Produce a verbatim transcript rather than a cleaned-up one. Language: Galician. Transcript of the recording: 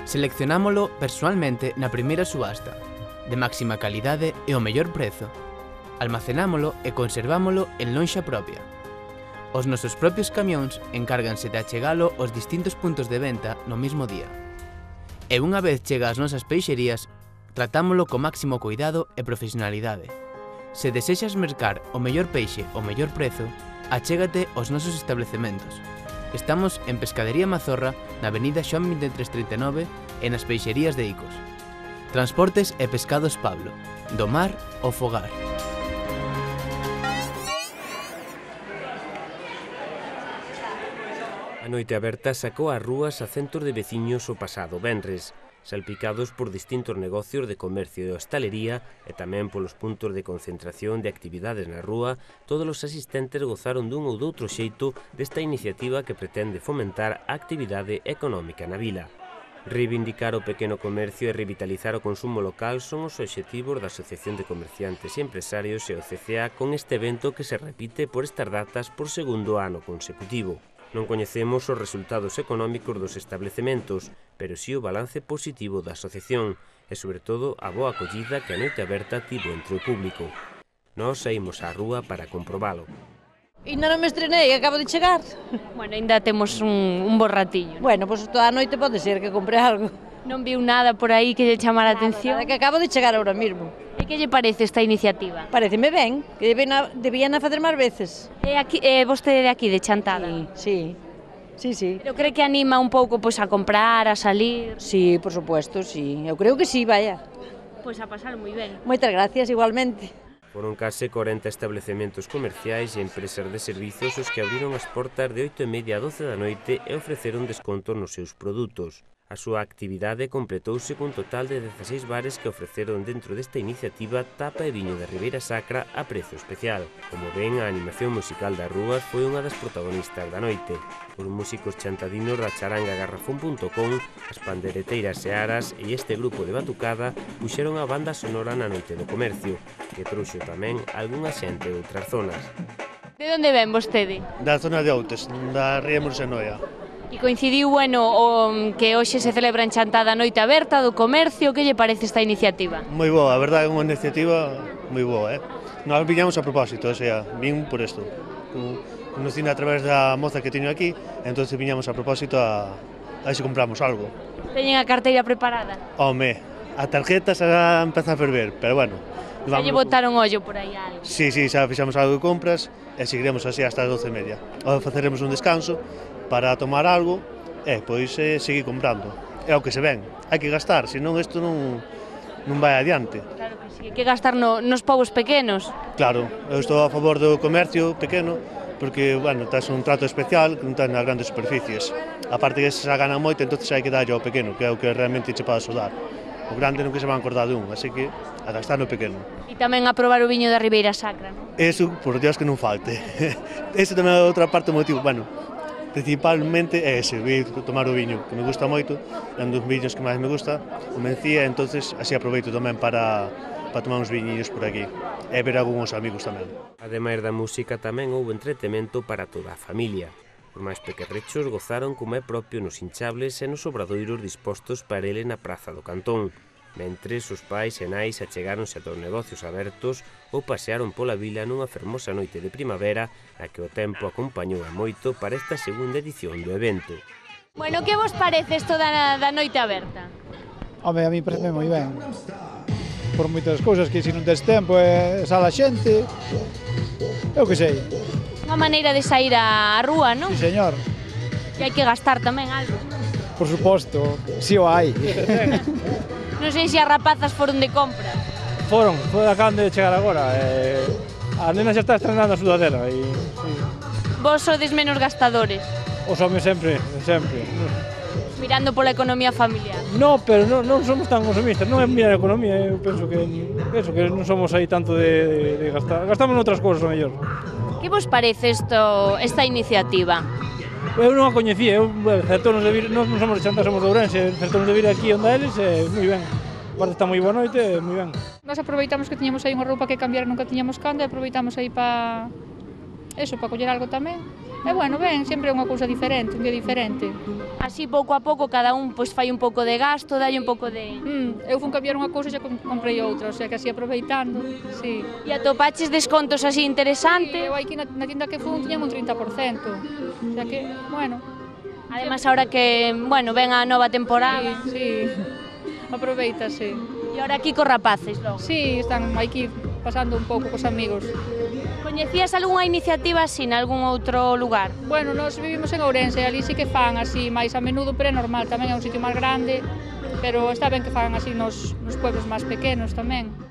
Seleccionámolo persoalmente na primeira subasta, de máxima calidade e o mellor prezo. Almacenámolo e conservámolo en lonxa propia. Os nosos propios camións encárganse de achegalo aos distintos puntos de venta no mesmo día. E unha vez chega ás nosas peixerías, tratámolo co máximo cuidado e profesionalidade. Se desexas mercar o mellor peixe ao mellor prezo, achégate aos nosos establecementos. Estamos en Pescadería Mazorra, na avenida Xoán vinte e tres trinta e nove e nas peixerías de Icos. Transportes e Pescados Pablo, do mar ao fogar. A noite aberta sacou ás rúas a centos de veciños o pasado venres, salpicados por distintos negocios de comercio e hostalería e tamén polos puntos de concentración de actividades na rúa. Todos os asistentes gozaron dun ou doutro xeito desta iniciativa que pretende fomentar a actividade económica na vila. Reivindicar o pequeno comercio e revitalizar o consumo local son os obxectivos da Asociación de Comerciantes e Empresarios e o C C A con este evento que se repite por estas datas por segundo ano consecutivo. Non coñecemos os resultados económicos dos establecementos, pero si o balance positivo da asociación e, sobre todo, a boa acollida que a noite aberta tivo entre o público. Nós saímos á rúa para comprobalo. Ainda non me estrenei, acabo de chegar. Bueno, ainda temos un, un bo ratillo. Bueno, pois pues toda a noite pode ser que compre algo. Non viu nada por aí que lle chamara a atención? Nada, que acabo de chegar ahora mismo. E que lle parece esta iniciativa? Pareceme ben, que debían a fazer máis veces. E aquí, eh, vostede de aquí, de Chantada? Sí, sí, sí, sí. Pero cree que anima un pouco pois, a comprar, a salir? Sí, por supuesto, sí. Eu creo que sí, vaya. Pois a pasar moi ben. Moitas gracias, igualmente. Foron case corenta establecementos comerciais e empresas de servizos os que abriron as portas de oito e media a doce da noite e ofreceron descontos nos seus produtos. A súa actividade completouse cun total de dezaseis bares que ofreceron dentro desta iniciativa tapa e viño de Ribeira Sacra a prezo especial. Como ven, a animación musical das rúas foi unha das protagonistas da noite. Os músicos chantadinos da charanga garrafón punto com, as pandereteiras Searas e este grupo de batucada puxeron a banda sonora na noite do comercio, que trouxo tamén algunha xente de outras zonas. De onde ven vostede? Da zona de Outes, da Ría Morsenoia. E coincidiu, bueno, o que hoxe se celebra en Chantada a noite aberta do comercio. Que lle parece esta iniciativa? Moi boa, a verdade é unha iniciativa moi boa, eh? Nós viñamos a propósito, o sea, vin por isto. Conocina a través da moza que teño aquí, entón viñamos a propósito a, a ver se compramos algo. Teñen a carteira preparada? Home, a tarjeta xa empeza a ferver, pero bueno. Xa lle botaron ollo por aí algo? Sí, sí, xa fixamos algo de compras e seguiremos así hasta as doce e media. Ou faceremos un descanso para tomar algo e pois eh, seguir comprando. É o que se ven, hai que gastar, senón isto non, non vai adiante. Claro que sí, hai que gastar no, nos povos pequenos. Claro, eu estou a favor do comercio pequeno porque, bueno, tes un trato especial que non ten nas grandes superficies. A parte que se gana moito, entón hai que darlle ao pequeno, que é o que realmente che pode axudar. O grande non que se van acordar de un, así que a gastar no pequeno. E tamén a probar o viño da Ribeira Sacra, non? Eso, por Dios que non falte. Eso tamén é outra parte do motivo, bueno, principalmente é ese, vir tomar o viño, que me gusta moito, é un dos viños que máis me gusta, o Mencía, entonces así aproveito tamén para, para tomar uns viñinhos por aquí, e ver algúns amigos tamén. Ademais da música, tamén houve entretemento para toda a familia. Os máis pequerrechos gozaron como é propio nos hinchables e nos obradoiros dispostos para ele na Praza do Cantón, mentres os pais e nais achegáronse ata os negocios abertos ou pasearon pola vila nunha fermosa noite de primavera na que o tempo acompañou a moito para esta segunda edición do evento. Bueno, que vos parece isto da, da noite aberta? Home, a mí parece moi ben. Por moitas cousas que se non tes tempo e sala xente, eu que sei. Unha maneira de sair á rúa, non? Sí, señor. E hai que gastar tamén algo. Por suposto, si o hai. Non sei se as rapazas foron de compra. Foron, foron acaban de chegar agora. Eh, a nena xa está estrenando a sudadera. E, sí. Vos sodes menos gastadores? Os homes sempre, sempre. Mirando pola economía familiar. No, pero non, non somos tan consumistas, non é mirar a economía, eu penso que, penso que non somos aí tanto de, de, de gastar. Gastamos noutras cousas, o mellor. Que vos parece isto, esta iniciativa? Eu non a coñecía, eu, bueno, certonos de vir, nós non somos de Chantada, somos de Ourense, certonos de vir aquí onde eles, é moi ben. Aparte está moi boa noite, é moi ben. Nós aproveitamos que tiñamos aí unha roupa que cambiar, nunca tiñamos canda, e aproveitamos aí para eso, para coller algo tamén. E, bueno, ben, sempre é unha cousa diferente, un día diferente. Así, pouco a pouco, cada un pois fai un pouco de gasto, dalle un pouco de... Mm, eu fun cambiar unha cousa e xa comprei outra, o sea, que así aproveitando, sí. E atopaches descontos así interesantes? Eu aquí na, na tienda que fun tiña un trinta por cento, o sea que, bueno... Además, ahora que, bueno, ven a nova temporada... Sí, sí, aproveitase. E ahora aquí cos rapaces, logo? Sí, están aquí pasando un pouco cos amigos. Coñecías algunha iniciativa así nalgún outro lugar? Bueno, nós vivimos en Ourense, ali sí que fan así máis a menudo, pero é normal, tamén é un sitio máis grande, pero está ben que fan así nos, nos pueblos máis pequenos tamén.